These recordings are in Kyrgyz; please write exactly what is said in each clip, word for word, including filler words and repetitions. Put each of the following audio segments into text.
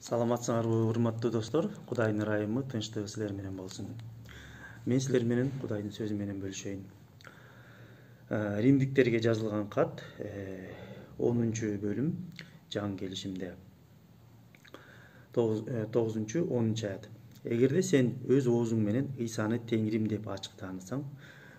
Саламатсыңарбы, урматтуу достор. Кудайдын ырайымы, тынчтыгы силер менен болсун. Мен силер менен Кудайдын сөзү менен бөлүшөйүн. Римдиктерге жазылган кат онунчу бөлүм жаңы келишимде тогузунчу онунчу аят. Эгерде сен өз оозуң менен Ыйсаны Теңирим деп ачык таанысаң,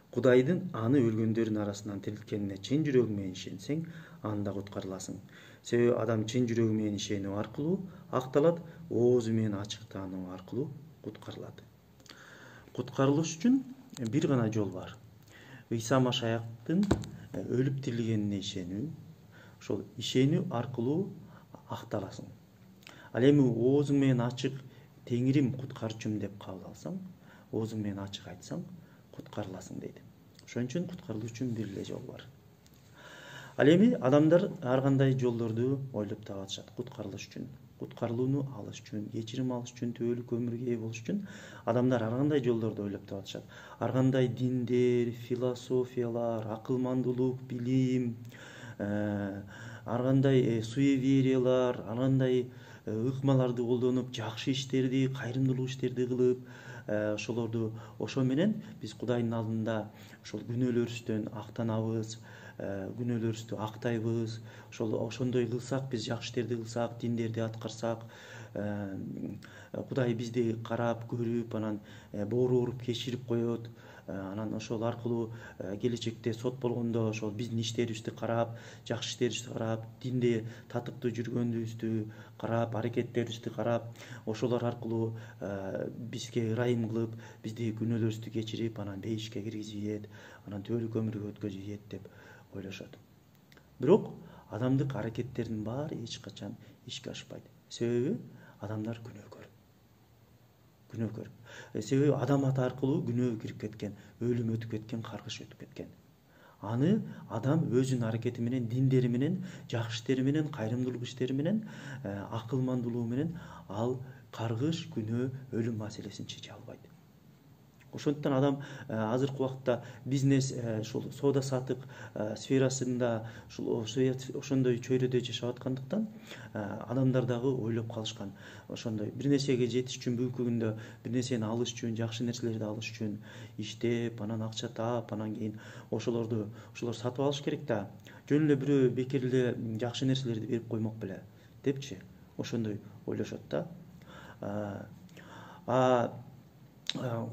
Кудайдын аны өлгөндөрдүн арасынан тирилткенине чын жүрөгүң менен ишенсең, анда куткарыласың. Себеби адам чын жүрөгү менен ишенүү аркылуу акталат, оозу менен ачык таануу аркылуу куткарылат. Куткарылыш үчүн бир гана жол бар. Ыйса Машаяктын өлүп тирилгенине ишенүү. Ошол ишенүү аркылуу акталасың. Ал эми оозуң менен ачык Теңирим куткарчум деп кабыл алсаң, оозуң менен ачык айтсаң, куткарыласың дейт. Ошон үчүн куткарылыш үчүн бир эле жол бар. Ал эми адамдар ар кандай жолдорду ойлоп таап атышат куткарылыш үчүн. Куткарылууну алыш үчүн, кечирим алыш үчүн, түбөлүк өмүргө ээ болуш үчүн адамдар ар кандай жолдорду ойлоп таап атышат. Ар кандай диндер, философиялар, акылмандуулук, билим, ар кандай суевериялар, ар кандай ыкмаларды колдонуп, жакшы иштерди, кайрымдуулук иштерди кылып, ошолорду ошо менен биз Кудайдын алдында ошол күнөөлөрүбүздөн актанабыз, күнөөлөрүбүздү актайбыз. Ошол ошондой кылсак, биз жакшы иштерди кылсак, диндерди аткарсак, Кудай бизди карап, көрүп, анан боору ооруп кечирип коет. Анан ошол аркылуу келечекте сот болгондо ошол биздин иштерибизди карап, жакшы иштерибизди карап, динде татыктуу жүргөнүбүздү карап, аракеттерибизди карап, ошолор аркылуу бизге ырайым кылып, бизди күнөөлөрүбүздү кечирип, анан бейишке киргизет, анан түбөлүк өмүргө өткөзөт деп ойлошот. Бирок адамдык аракеттердин баары эч качан ишке ашпайт. Себеби адамдар күнөөкөр. Күнөөкөр. Себеби адам аты аркылуу күнөө кирип кеткен, өлүм өтүп кеткен, каргыш өтүп кеткен. Аны адам өзүнүн аракети менен, диндери менен, жакшы иштери менен, кайрымдуулук иштери менен, акылмандуулугу менен ал каргыш, күнөө, өлүм маселесин чече албайт. Ошондуктан адам азыркы убакта бизнес, ушул соода саттык сферасында ошондой чөйрөдө жашап аткандыктан адамдар дагы ойлоп калышкан. Ошондой бир нерсеге жетиш үчүн, бүгүнкү күндө бир нерсени алыш үчүн, жакшы нерселерди алыш үчүн иштеп, анан акча таап, анан кийин ошолорду ошолор сатып алыш керек да. Жөн эле бирөө бекер эле жакшы нерселерди берип коймок беле депчи, ошондой ойлошот да. А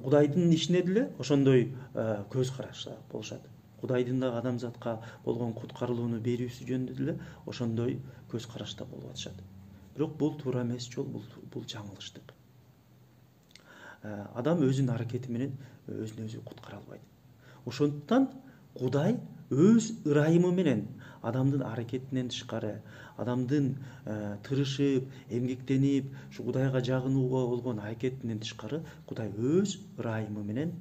Кудайдын ишине деле ошондой көз карашта болушат. Кудайдын да адамзатка болгон куткарылууну берүүсү жөнүндө деле ошондой көз карашта болуп атышат. Бирок бул туура эмес жол, бул бул жаңылыштык. Адам өзүнүн аракети менен өзүн өзү куткара албайт. Ошондуктан Кудай өз ырайымы менен адамдын аракетинен тышкары, адамдын тырышып, эмгектенип, ушу Кудайга жагынууга болгон аракетинен тышкары Кудай өз ырайымы менен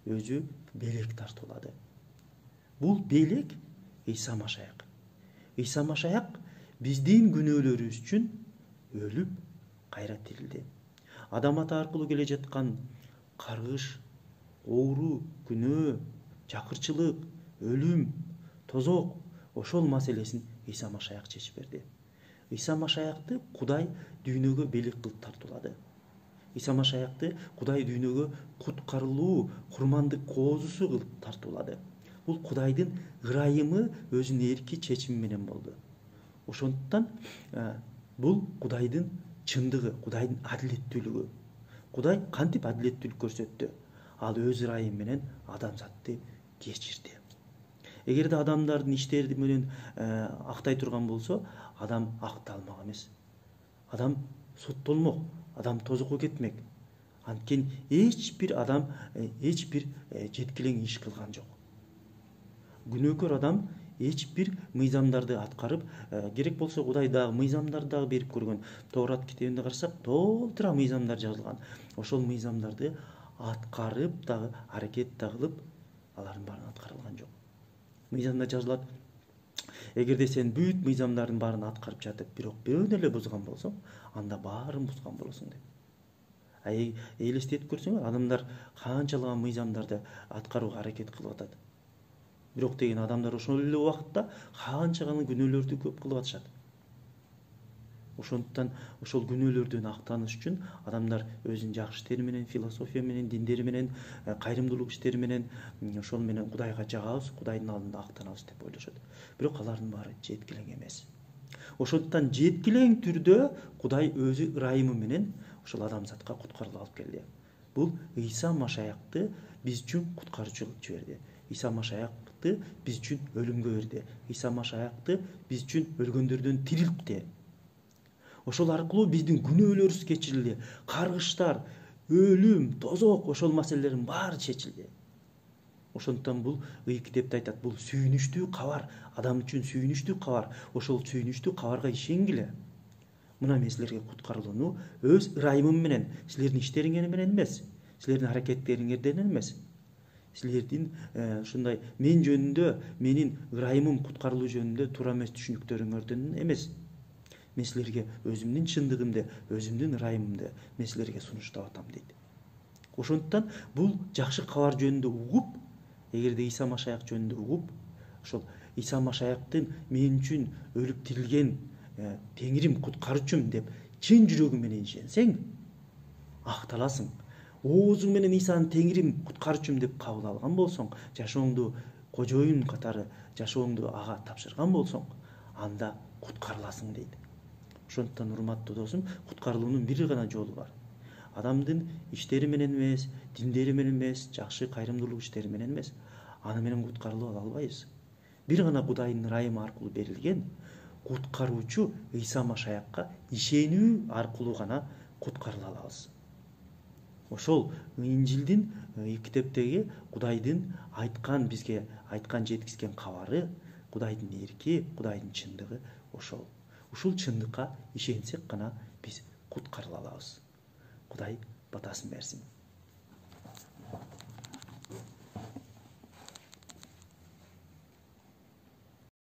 өзү белек тартуулады. Бул белек Ыйса Машаяк. Ыйса Машаяк биздин күнөөлөрүбүз үчүн өлүп, кайра тирилди. Адам аты аркылуу келе жаткан каргыш, оору, күнөө, жакырчылык, өлүм, тозок, ошол маселесин Ыйса Машаяк чечип берди. Ыйса Машаякты Кудай дүйнөгө белек кылып тартуулады. Ыйса Машаякты Кудай дүйнөгө куткарылуу, курмандык коозусу кылып тартуулады. Бул Кудайдын ырайымы өзүнүн эрки чечими менен болду. Ошондуктан бул Кудайдын чындыгы, Кудайдын адилеттүүлүгү. Кудай кантип адилеттүүлүк көрсөттү? Ал өз ырайымы менен адамзатты кечирди. Эгерде адамдардын иштери менен актай турган болсо, адам акталмак эмес. Адам соттолмок, адам тозокко кетмек. Анткени эч бир адам эч бир жеткилең иш кылган жок. Күнөөкөр адам эч бир мыйзамдарды аткарып, керек болсо Кудай дагы мыйзамдарды дагы берип көргөн. Тоорат китебинде карасак, толтура мыйзамдар жазылган. Ошол мыйзамдарды аткарып дагы, аракет да кылып, алардын баарын аткарылган жок. Мыйзамда жазылат: эгерде сен бүт мыйзамдардын баарын аткарып жатып, бирок бирөөнү эле бузган болсоң, анда баарын бузган болосуң деп. А элестетип көрсөңөр, адамдар канчалаган мыйзамдарды аткарууга аракет кылып атат. Бирок деген адамдар ошол эле убакытта канча гана күнөөлөрдү көп кылып атышат. Ошондуктан ошол күнөөлөрдөн актаныш үчүн адамдар өзүнүн жакшы иштери менен, философия менен, диндери менен, кайрымдуулук иштери менен ошол менен Кудайга жагабыз, Кудайдын алдында актанабыз деп ойлошот. Бирок алардын баары жеткилең эмес. Ошондуктан жеткилең түрдө Кудай өзү ырайымы менен ошол адамзатка куткаруу алып келди. Бул Ыйса Машаякты биз үчүн куткаруучулук жиберди. Ыйса Машаякты биз үчүн өлүмгө берди. Ыйса Машаякты биз үчүн өлгөндөрдөн тирилтти. Ошол аркылуу биздин күнөөлөрүбүз кечирилди. Каргыштар, өлүм, тозок ошол маселелердин баары чечилди. Ошондуктан бул Ыйык китепте айтат, бул сүйүнүчтүү кабар, адам үчүн сүйүнүчтүү кабар. Ошол сүйүнүчтүү кабарга ишенгиле. Мына мен силерге куткарылууну өз ырайымым менен, силердин иштериңер менен эмес, силердин аракеттериңерден эмес, силердин ушундай мен жөнүндө, менин ырайымым куткарылуу жөнүндө туура эмес түшүнүктөрүңөрдөн эмес. Мен силерге өзүмдүн чындыгымды, өзүмдүн ырайымымды мен силерге сунуштап атам дейт. Ошондуктан бул жакшы кабар жөнүндө угуп, эгерде Ыйса Машаяк жөнүндө угуп, ошол Ыйса Машаяктын мен үчүн өлүп тирилген Теңирим, куткаруучум деп чын жүрөгүң менен ишенсең, акталасың. Оозуң менен Ыйсаны Теңирим, куткаруучум деп кабыл алган болсоң, жашооңду кожоюн катары жашооңду ага тапшырган болсоң, анда куткарыласың дейт. Ошондуктан урматтуу досум, куткарылуунун бир гана жолу бар. Адамдын иштери менен эмес, диндери менен эмес, жакшы кайрымдуулук иштери менен эмес, аны менен куткарылып ала албайбыз. Бир гана Кудайдын ырайымы аркылуу берилген куткаруучу Ыйса Машаякка ишенүү аркылуу гана куткарыла алабыз. Ошол Инжилдин, китептеги Кудайдын айткан, бизге айткан, жеткизген кабары, Кудайдын эрки, Кудайдын чындыгы ошол. Ушул чындыкка ишенсек гана биз куткарыла алабыз. Кудай батасын берсин.